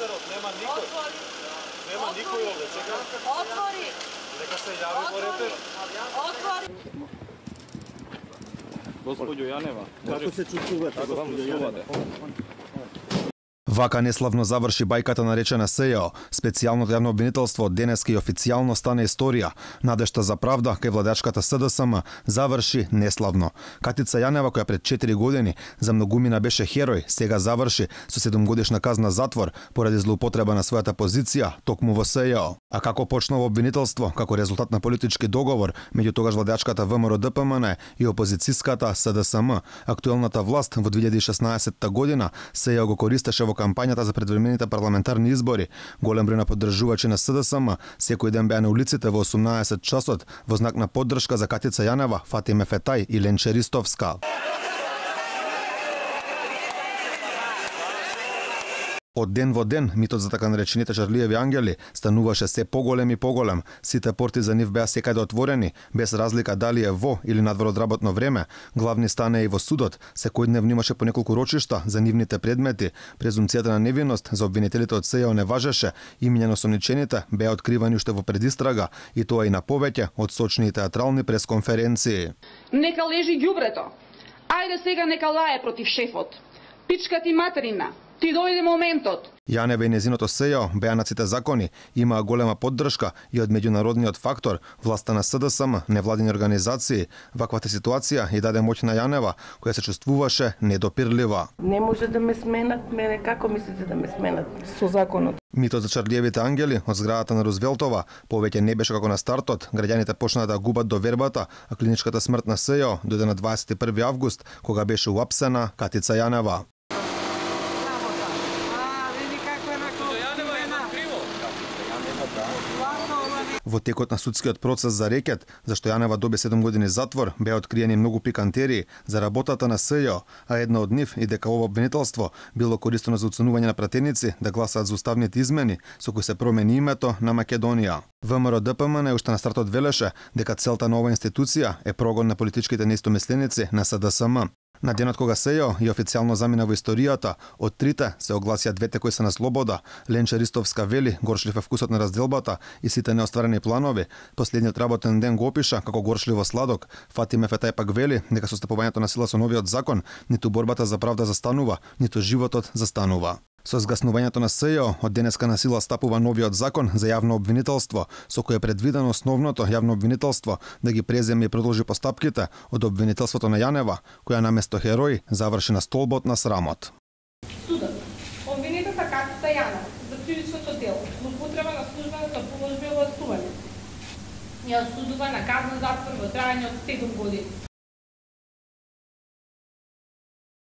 репортерот, нема никој. Нема никој овде, чекам. Отвори. Нека се јави во репер. Отвори. Господјо Јанева, како се чувствувате, господјо Јанева? Вака неславно заврши бајката наречена СЈО. Специјалното јавно обвинителство денеска и официјално стана историја. Надежта за правда кај владачката СДСМ заврши неславно. Катица Јанева, која пред 4 години за многумина беше херој, сега заврши со 7-годишна казна затвор поради злоупотреба на својата позиција токму во СЈО. А како почнува обвинителство како резултат на политички договор меѓу тогаш владачката ВМРО-ДПМН и опозицијската СДСМ, актуелната власт во 2016 година СЈО го користеше во кампањата за предвремените парламентарни избори. Голем број на поддржувачи на СДСМ секој ден беа на улиците во 18 часот во знак на поддршка за Катица Јанева, Фатиме Фетај и Ленче Ристовска. Од ден во ден, митот за така наречените Чарлиеви ангели стануваше се поголем и поголем. Сите порти за нив беа секаде отворени, без разлика дали е во или надвор од работно време. Главни стане и во судот. Секојдневно имаше по неколку рочишта за нивните предмети. Презумцијата на невиност за обвинителите од СЈО не важеше. Имиња на осомничените беа откривани уште во предистрага, и тоа и на повеќе од сочни и театрални пресконференции. Нека лежи ѓубрето. Ајде сега нека лае против шефот. Пичка ти материна. Ти дојде моментот. Јанева и незиното СЈО беа на сите закони, имаа голема поддршка и од меѓународниот фактор, власта на СДСМ, невладини организации. Ваквата ситуација и даде моќ на Јанева, која се чувствуваше недопирлива. Не може да ме сменат, мене како мислите да ме сменат со законот? Митот за Чарлиевите ангели од зградата на Рузвелтова повеќе не беше како на стартот. Граѓаните почнаа да губат довербата, а клиничката смрт на СЈО дојде на 21 август, кога беше уапсена Катица Јанева. Во текот на судскиот процес за рекет, зашто Јанева доби 7 години затвор, беа откриени многу пикантерии за работата на СЈО, а една од нив и дека ова обвинителство било користено за уценување на пратеници да гласаат за уставните измени со кои се промени името на Македонија. ВМРО-ДПМН уште на стартот велеше дека целта на оваа институција е прогон на политичките неистомисленици на СДСМ. На денот кога СЈО и официјално замина во историјата, од трите се огласија двете кои се на слобода. Ленче Ристовска вели горчлив е вкусот на разделбата и сите неостварени планови. Последниот работен ден го опиша како горчливо сладок. Фатиме Фетај пак вели дека со стапувањето на сила со новиот закон, ниту борбата за правда застанува, ниту животот застанува. Со згаснувањето на СЈО, од денеска на сила стапува новиот закон за јавно обвинителство, со кој е предвидено основното јавно обвинителство да ги преземе и продолжи постапките од обвинителството на Јанева, која наместо херој заврши на столбот на срамот. Судот. Обвинетата Катица Јанева за кривичното дело, злоупотреба на службената положба и властување, ја осудува на казна затвор во трајање од 7 години.